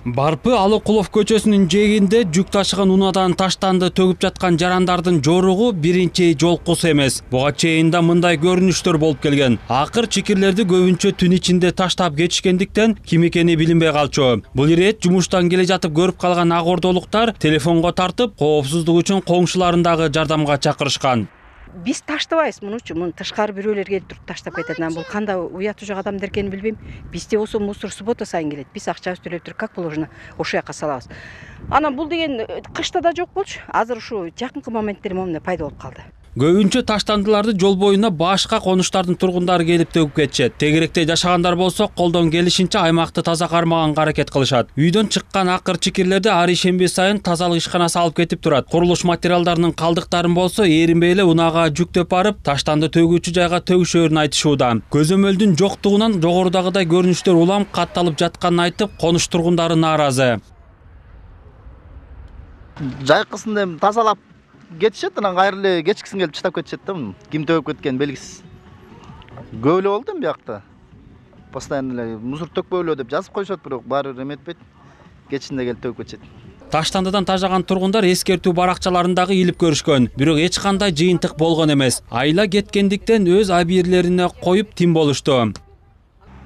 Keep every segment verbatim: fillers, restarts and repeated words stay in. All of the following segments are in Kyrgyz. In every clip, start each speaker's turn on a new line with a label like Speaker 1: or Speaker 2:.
Speaker 1: Барпы Алыкулов көчөсүнүн жээгинде жүк ташыган унаадан таштанды төгүп жаткан жарандардын жоругу биринчи жолкусу эмес. Буга чейин да мындай көрүнүштөр болуп келген. Акыр чикирлерди көбүнчө түн ичинде таштап кетишкендиктен ким экени билинбей калчу. Бул ирет жумуштан келе жатып көрүп калган ак ордолуктар телефонго тартып, коопсуздук үчүн коңшуларын дагы жардамга чакырышкан.
Speaker 2: Биз таштабайбыз мунучу, муну тышкары бирөөлөр келип туруп таштап кетет. Анан бул кандай уятуу жок адамдар экенин билбейм. Бизде болсо мусор суббота сайын келет. Биз акчабызды төлөп туруп, как положено, ошол жака салабыз. Анан бул деген кышта да жок болчу. Азыр ушу жакынкы моменттер момундай пайда болуп калды.
Speaker 1: Көбүнчө таштандыларды жол боюна башка конуштардын тургундары келип төгүп кетишет. Тегеректе жашагандар болсо колдон келишинче аймакты таза кармаганга аракет кылышат. Үйдөн чыккан акыр чикирлерди ар ишемби сайын тазалык ишканасы алып кетип турат. Курулуш материалдарынын калдыктарын болсо эринбей эле унаага жүктөп барып, таштанды төгүүчү жайга төгүшөөрүн айтышууда. Көзөмөлдүн жоктугунан жогорудагыдай көрүнүштөр улам катталып жатканын айтып, конуш тургундары нааразы.
Speaker 3: Жайкысын эми тазалап кетишет, анан кайра эле кечкисин келип чыштап кетишет да. Ким төгүп кеткени белгисиз. Көп эле болду эми биякта. Постоянно эле мусор төкпөйлө деп жазып коюшат, бирок баары бир эметпейт. Кечинде келип төгүп кетишет.
Speaker 1: Таштандыдан тажаган тургундар эскертүү баракчаларындагы илип көрүшкөн, бирок эч кандай жыйынтык болгон эмес. Айла кеткендиктен өз абийирлерине коюп тим болушту.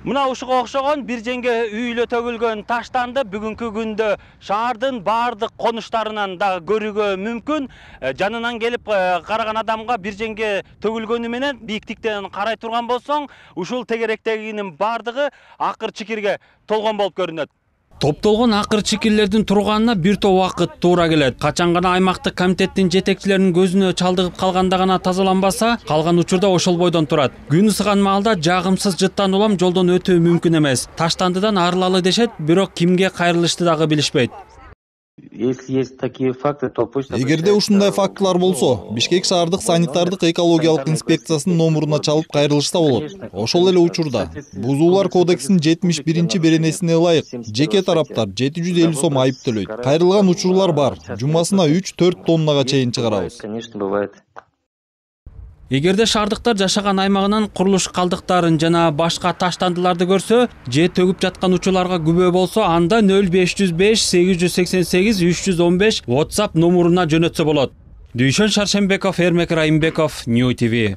Speaker 1: Мына ушуга окшогон бир жеңге үйлө төгүлгөн таштанды бүгүнкү күндө шаардын баардык конуштарынан да көрүүгө мүмкүн. Жанынан келип караган адамга бир жеңге төгүлгөнү менен бийиктиктен карай турган болсоң, ушул тегеректегинин баардыгы акыр чикирге толгон болуп көрүнөт. Топтолгон акыр чикирлердин турганына бир топ убакыт туура келет. Качан гана аймактык комитеттин жетекчилеринин көзүнө чалдыгып калганда гана тазаланбаса, калган учурда ошол бойдон турат. Күн ысыган маалда жагымсыз жыттан улам жолдон өтүү мүмкүн эмес. Таштандыдан арылалы дешет, бирок кимге кайрылышты дагы билишпейт.
Speaker 4: Эгерде ушундай фактылар болсо, Бишкек шаардык санитардык экологиялык инспекциясынын номуруна чалып кайрылышса болот. Ошол эле учурда Бузуулар кодексинин жетимиш биринчи беренесине ылайык жеке тараптар жети жүз элүү сом айып төлөйт. Кайрылган учурлар бар. Жумасына үч төрт тоннага чейин чыгарабыз.
Speaker 1: Эгерде шаардыктар жашаган аймагынан курулуш калдыктарын жана башка таштандыларды көрсө, же төгүп жаткан учурларга күбө болсо, анда нөл беш жүз беш сегиз жүз сексен сегиз үч жүз он беш WhatsApp номуруна жөнөтсө болот. Дүйшөн Шаршембеков, Эрмек Райымбеков, Нью ти ви.